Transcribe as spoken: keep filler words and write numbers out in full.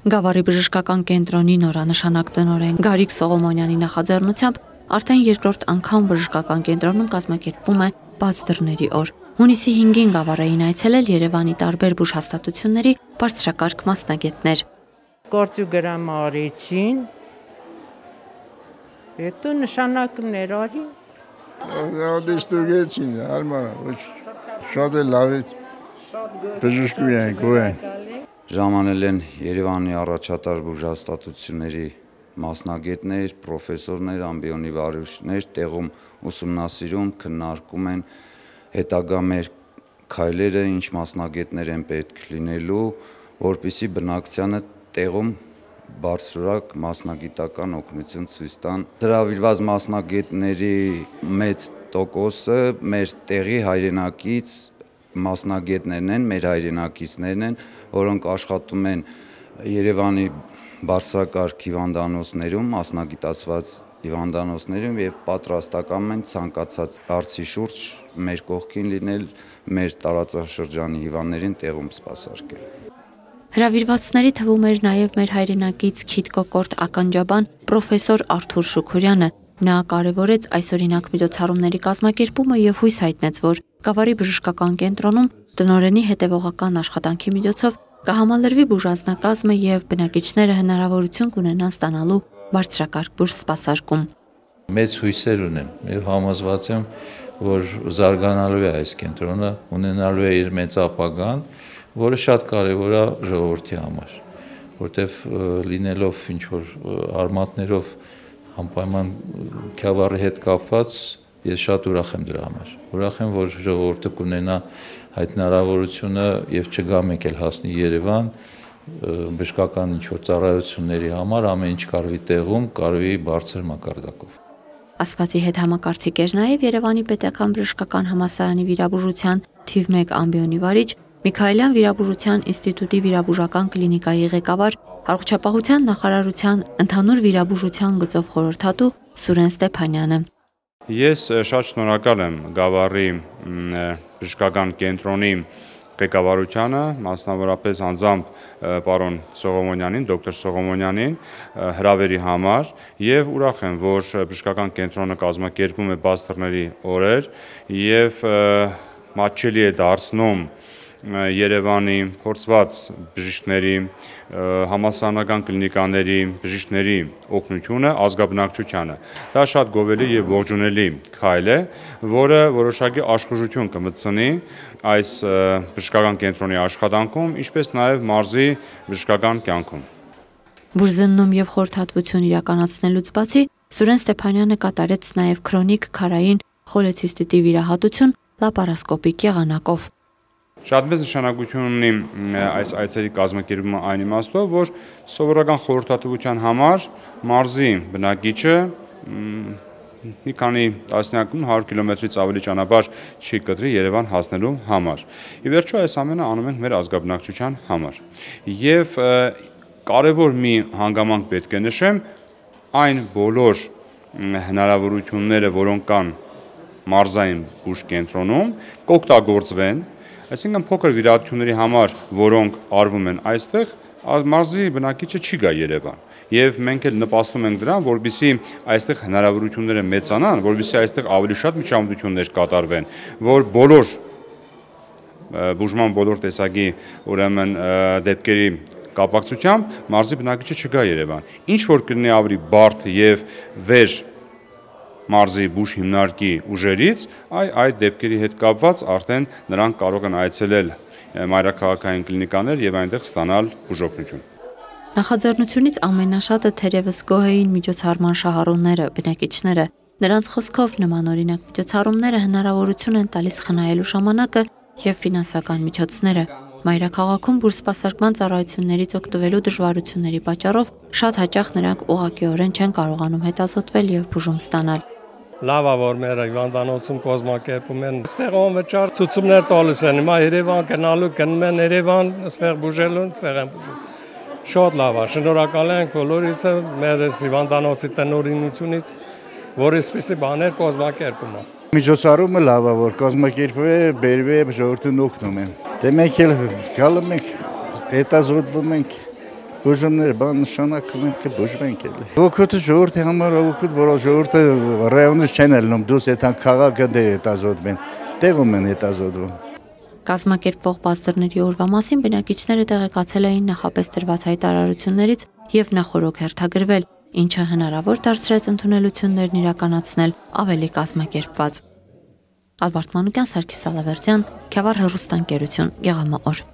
Գավառի բժշկական կենտրոնի նորանշանակ տնօրեն Գարիկ Սողոմոնյանի նախաձեռնությամբ արդեն երկրորդ անգամ բժշկական կենտրոնում կազմակերպվում է բաց դռների օր։ Հունիսի հինգին Գավառային այցելել Երևանի տարբեր բուժհաստատությունների բարձրակարգ մասնագետներ։ Գործի գրամարեցին, հետո նշանակներ արի։ Դիստուգեցին, արմանը, շատ է լավ է, բժշկու են, գոհ են։ Ժամանել են Երևանի առաջատար բուժհաստատությունների մասնագետներ, պրոֆեսորներ, ամբիոնի վարուժներ, տեղում ուսումնասիրում, քննարկում են հետագա մեր քայլերը, ինչ մասնագետներ են պետք լինելու, որպեսզի բնակչությանը տեղում բարձրորակ մասնագիտական օգնություն ցույց տան։ Հրավիրված մասնագետների մեծ տոկոսը մեր տեղի հայրենակից մասնագետներն են, մեր հայրենակիցներն են, որոնք աշխատում են Երևանի բարձրակարգ հիվանդանոցներում, մասնագիտացված հիվանդանոցներում եւ պատրաստական են ցանկացած հարցի շուրջ մեր կողքին լինել, մեր տարածաշրջանի հիվանդներին տեղում սպասարկել։ Հրավիրվածների թվում էր նաև մեր հայրենակից քիթ-կոկորտ ականջաբան պրոֆեսոր Արթուր Շուքուրյանը։ Նա կարևորեց այսօրինակ միջոցառումների կազմակերպումը եւ հույս հայտնեց, որ Գավառի բժշկական կենտրոնում տնօրենի հետևողական աշխատանքի միջոցով կհամալրվի բուժանձնակազմը եւ բնակիչները հնարավորություն կունենան ստանալու բարձրակարգ բուժսպասարկում։ Մեծ հույսեր ունեմ եւ համոզված եմ, որ զարգանալու է այս կենտրոնը, ունենալու է իր մեծ ապագան, որը շատ կարևոր է ժողովրդի համար, որտեվ լինելով ինչ որ արմատներով անպայման Գավառի հետ կապված, ես շատ ուրախ եմ դրա համար։ Ուրախ եմ, որ ժողովուրդը կունենա այդ հնարավորությունը եւ չգա մեկ էլ հասնի Երևան բժշկական ինչ որ ծառայությունների համար, ամեն ինչ կարվի տեղում, կարվի բարձր մակարդակով։ Ասվածի հետ համակարծիք էր նաև Երևանի պետական բժշկական համալսարանի վիրաբուժության թիվ մեկ ամբիոնի վարիչ, Միքայելյան վիրաբուժության ինստիտուտի վիրաբուժական կլինիկայի ղեկավար, Առողջապահության նախարարության ընդհանուր վիրաբուժության գծով խորհրդատու Սուրեն Ստեփանյանը։ Ես շատ շնորհակալ եմ Գավառի բժշկական կենտրոնի ղեկավարությանը, մասնավորապես անձամբ պարոն Սողոմոնյանին, դոկտոր Սողոմոնյանին հրավերի համար եւ ուրախ եմ, որ բժշկական կենտրոնը կազմակերպում է բաց դռների օրեր եւ մատչելի է դարձնում Երևանի փորձված բժիշկների, համալսարանական կլինիկաների, բժիշկների օգնությունը ազգաբնակչությանը։ Դա շատ գովելի եւ ողջունելի քայլ է, որը որոշակի աշխուժություն կմտցնի այս բժշկական կենտրոնի աշխատանքում, ինչպես նաեւ մարզի բժշկական կյանքում։ Բուժզննում եւ խորհրդատվություն իրականացնելուց բացի Սուրեն Ստեփանյանը կատարեց նաեւ քրոնիկ քարային խոլեցիստիտի վիրահատություն լապարասկոպիկ եղանակով։ Շատ մեծ նշանակություն ունի այս այցերի կազմակերպումը այն իմաստով, որ սովորական խորհրդատվության համար մարզի բնակիչը մի քանի տասնյակում հարյուր կիլոմետրից ավելի ճանապարհ չի կտրի Երևան հասնելու համար։ Ի վերջո այս ամենը անում ենք մեր ազգաբնակչության համար։ Եվ կարևոր մի հանգամանք պետք է նշեմ, այն բոլոր հնարավորությունները, որոնք կան մարզային բուժկենտրոնում, կօգտագործվեն, այսինքն փոքր վիրահատությունների համար, որոնք արվում են այստեղ, մարզի բնակիչը չի գա Երևան։ Եվ մենք էլ նպաստում ենք դրան, որպեսզի այստեղ հնարավորությունները մեծանան, որպեսզի այստեղ ավելի շատ միջամտություններ կատարվեն, որ բոլոր բուժման բոլոր տեսակի ուրեմն դեպքերի կապակցությամբ մարզի բնակիչը չգա Երևան։ Ինչ որ կլինի ավելի բարդ եւ վեր մարզի բուժ հիմնարկի ուժերից, այ այդ դեպքերի հետ կապված արդեն նրանք կարող են այցելել մայրաքաղաքային կլինիկաներ եւ այնտեղ ստանալ բուժօգնություն։ Նախաձեռնությունից ամենաշատը թերևս գոհ էին միջոցառման շահառուները, բնակիչները։ Նրանց խոսքով նմանօրինակ միջոցառումները հնարավորություն են տալիս խնայելու ժամանակը եւ ֆինանսական միջոցները։ Մայրաքաղաքում բուժսպասարկման ծառայություններից օգտվելու դժվարությունների պատճառով շատ հաճախ նրանք ուղղակիորեն չեն կարողանում հետազոտվել եւ բուժում ստանալ։ Լավ է, որ մեր հիվանդանոցում կազմակերպում են, այստեղ անվճար ցուցումներ տալիս են, հիմա Երևան գնալու, գնում են Երևան, այստեղ բուժելու, այստեղ են բուժում։ Շատ լավ է, շնորհակալ ենք բոլորիս մեր հիվանդանոցի տնօրինությունից, որ այսպիսի բաներ կազմակերպում է։ Միջոցառումը լավ է, որ կազմակերպվում է, բերվում է, ժողովրդին օգնում են։ Դե մենք էլ գալու ենք, հետազոտվում ենք, բուժումներ, բան նշանակում են թե բուժվենք էլի։ Ոգուտը ժողովրդի համար ոգուտ, որ ժողովուրդը ռայոնից չեն ելնում, դուս այդան քաղաքը դե հետազոտվեն, տեղում են հետազոտվում։ Կազմակերպվող բազդրների օրվա մասին բնակիչները տեղեկացել էին նախապես տրված հայտարարություններից եւ նախորոք հերթագրվել, ինչը հնարավոր դարձրեց ընդունելություններն իրականացնել ավելի կազմակերպված։ Ալբարտ Մանուկյան, Սարգիս Սալավերդյան, Քյավառ հեռուստաընկերություն, Գեղամա օր։